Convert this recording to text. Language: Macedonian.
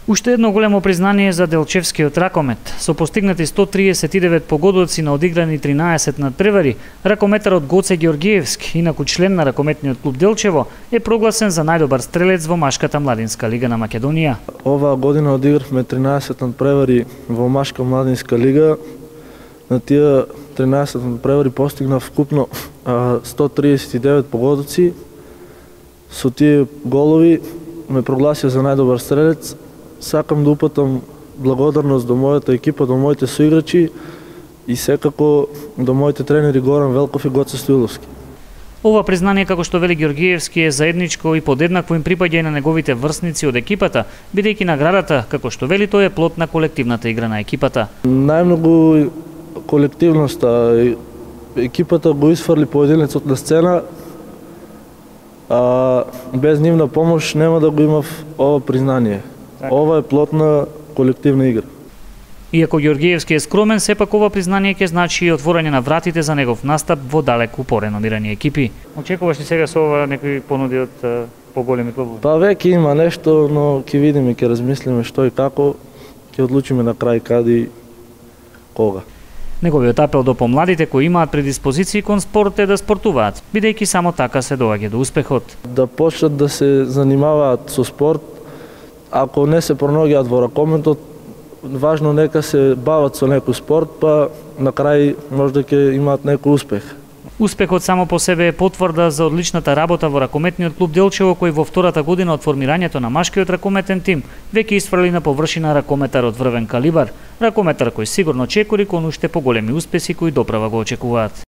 Уште едно големо признание за Делчевскиот ракомет. Со постигнати 139 погодоци на одиграни 13 надпревари, ракометарот Гоце Георгиевски, инаку член на ракометниот клуб Делчево, е прогласен за најдобар стрелец во машката младинска лига на Македонија. Оваа година одигравме 13 надпревари во машка младинска лига. На тие 13 надпревари постигнав вкупно 139 погодоци. Со тие голови ме прогласија за најдобар стрелец. Сакам да упатам благодарност до мојата екипа, до моите соиграчи и секако до моите тренери Горан Велков и Гоце Стоиловски. Ова признание, како што вели Георгиевски, е заедничко и подеднакво им припаѓа и на неговите врсници од екипата, бидејќи наградата, како што вели тој, е плод на колективната игра на екипата. Најмногу колективноста. Екипата го исфрли поединецот на сцена, а без нивна помош нема да го имав ова признание. Ова е плод на колективна игра. Иако Георгиевски е скромен, сепак ова признание ќе значи и отворање на вратите за негов настап во далеку пореномирани екипи. Очекуваш ли сега со ова некои понуди од поголеми клубови? Па веќе има нешто, но ќе видиме, ќе размислиме што и како, ќе одлучиме на крај каде и кога. Неговиот апел до помладите кои имаат предиспозиции кон спорт е да спортуваат, бидејќи само така се доаѓа до успехот. Да почнат да се занимаваат со спорт. Ако не се пронаоѓаат во ракометот, важно нека се бават со некој спорт, па на крај можда ќе имаат некој успех. Успехот само по себе е потврда за одличната работа во ракометниот клуб Делчево, кој во втората година од формирањето на машкиот ракометен тим веќе исфрли на површина ракометар од врвен калибар, ракометар кој сигурно чекори кон уште поголеми успеси кои доправа го очекуваат.